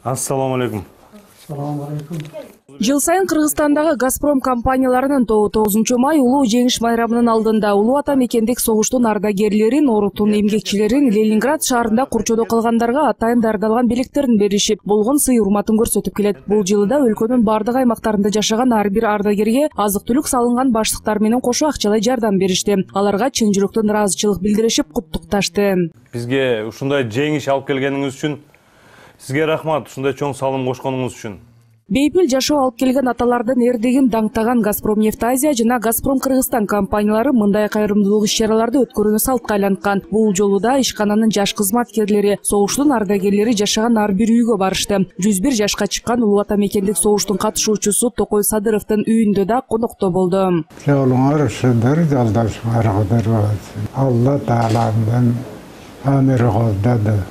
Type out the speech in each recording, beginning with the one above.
Ассаламу алейкум. Жыл сайын Кыргызстандагы Газпром компанияларынын тобу 9 май улуу жеңиш майрамынын алдында улуу ата мекендик согуштун ардагерлерин, оруктун эмгекчилерин Ленинград шаарында курчоодо калгандарга атайын даярдалган белектерин беришип, болгон сый урматын көрсөтүп келет. Бул жылы да өлкөнүн бардык аймактарында жашаган ар бир ардагерге азык-түлүк салынган баштыктар менен кошо акчалай жардам беришти. Аларга чын жүрөктөн ыраазычылык билдиришип, куттукташты. Бизге ушундай жеңиш алып келгениңиз үчүн сизге рахмат, ушундай чоң салым кошконуңуз үчүн. Бейпил жашоо алып келген аталардын эрдигин даңктаган Газпром Нефть-Азия жана Газпром Кыргызстан компаниялары мындай кайрымдуулук иш-чараларды өткөрүүнү салтка айланткан. Бул жолу да ишкананын жаш кызматкерлери, согуштун ардагерлери жашаган ар бир үйгө барышты. 101 жашка чыккан улуу ата мекендик согуштун катышуучусу Токой Садыровдун үйүндө да конокто болду. Жолуңар ушундай жолдошмарыңдар болсун. Алла Тааламдын амыры колдоду.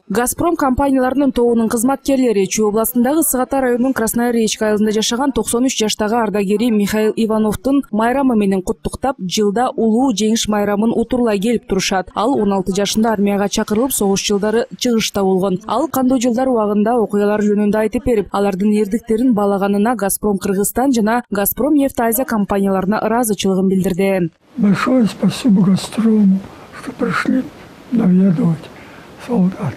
Газпром компанияларынын тобунун кызматкерлери Чүй областындагы Сыгата районунун Красная Речка айылында жашаган 93 жаштагы ардагери Михаил Ивановдун майрамы менен куттуктап, жылда улуу жеңиш майрамын утурлай келип турушат. Ал 16 жашында армияга чакырылып, согуш жылдары чыгышта болгон. Ал кандуу жылдар убагында окуялар жөнүндө айтып берип, алардын эрдиктерин баалаганына Газпром Кыргызстан жана Газпром Нефть-Азия компанияларына ыраазычылыгын билдирди. Большое спасибо Газпрому, что пришли наведывать солдат.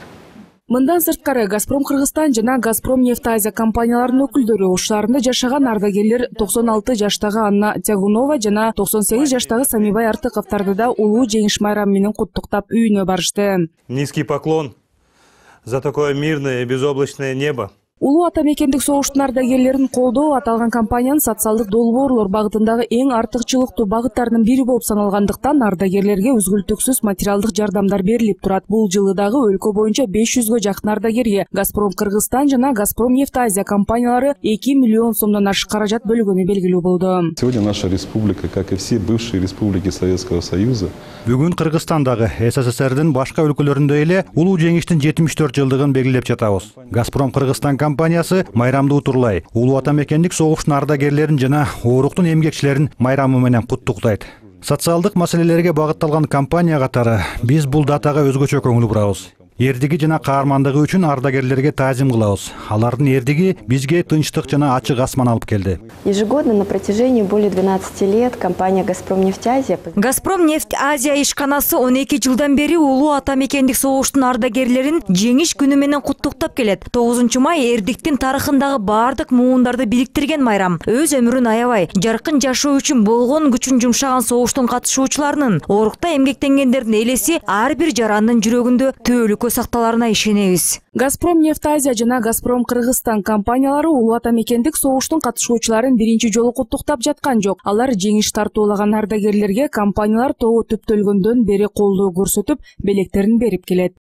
Мындан сырткары Газпром Кыргызстан жана Газпром Нефть-Азия компанияларынын өкүлдөрү ош шаарында жашаган ардагерлер 96 жаштагы Анна Тягунова жана 98 жаштагы Самибай Артыковдарды да улуу жеңиш майрамы менен куттуктап үйүнө барышты. Низкий поклон за такое мирное и безоблачное небо. Улуу ата мекендик согуштун ардагерлерин колдоо аталган компаниянын социалдык долбоорлор багытындагы эң артыкчылыктуу багыттарынын бири болуп саналгандыктан ардагерлерге үзгүлтүксүз материалдык жардамдар берилип турат. Бул жылы дагы өлкө боюнча 500гө жакын ардагерге Газпром Кыргызстан жана Газпром Нефть-Азия компаниялары 2 миллион сомдон ашык каражат бөлгөнү белгилүү болду. Сегодня наша республика, как и все бывшие республики Советского Союза, бүгүн Кыргызстандагы СССРдин башка өлкөлөрүндөй эле улуу жеңиштин 74 жылдыгын белгилеп жатабыз. Газпром Кыргызстан компаниясы майрамды утурлай улуу ата мекендик согуштун ардагерлерин жана оруктун эмгекчилерин майрамы менен куттуктайт. Социалдык маселелерге багытталган компания катары биз бул датага өзгөчө көңүл бурабыз. Эрдиги жана каармандыгы үчүн ардагерлерге таазим кылабыз. Алардын эрдиги бизге тынчтык жана ачык асман алып келди. Ежегодно на протяжении более 12 лет компания Газпром Нефть-Азия Газпром Нефть-Азия ишканасы 12 жылдан бери улуу ата мекендик согуштун ардагерлерин жеңиш күнү менен куттуктап келет. 9 май эрдиктин тарыхындагы бардык муундарды бириктирген майрам. Өз өмүрүн аябай, жаркын жашоо үчүн болгон күчүн жумшаган согуштун катышуучуларынын, орукта эмгектенгендердин элеси ар бир жарандын жүрөгүндө түбөлүккө сакталарына ишенебиз. Газпром Нефть-Азия жана Газпром Кыргызстан компаниялары улуу ата мекендик согуштун катышуучуларын биринчи жолу куттуктап жаткан жок. Алар жеңиш тартуулаган ардагерлерге компаниялар тобу түптөлгөндөн бери колдоо көрсөтүп, белектерин берип келет.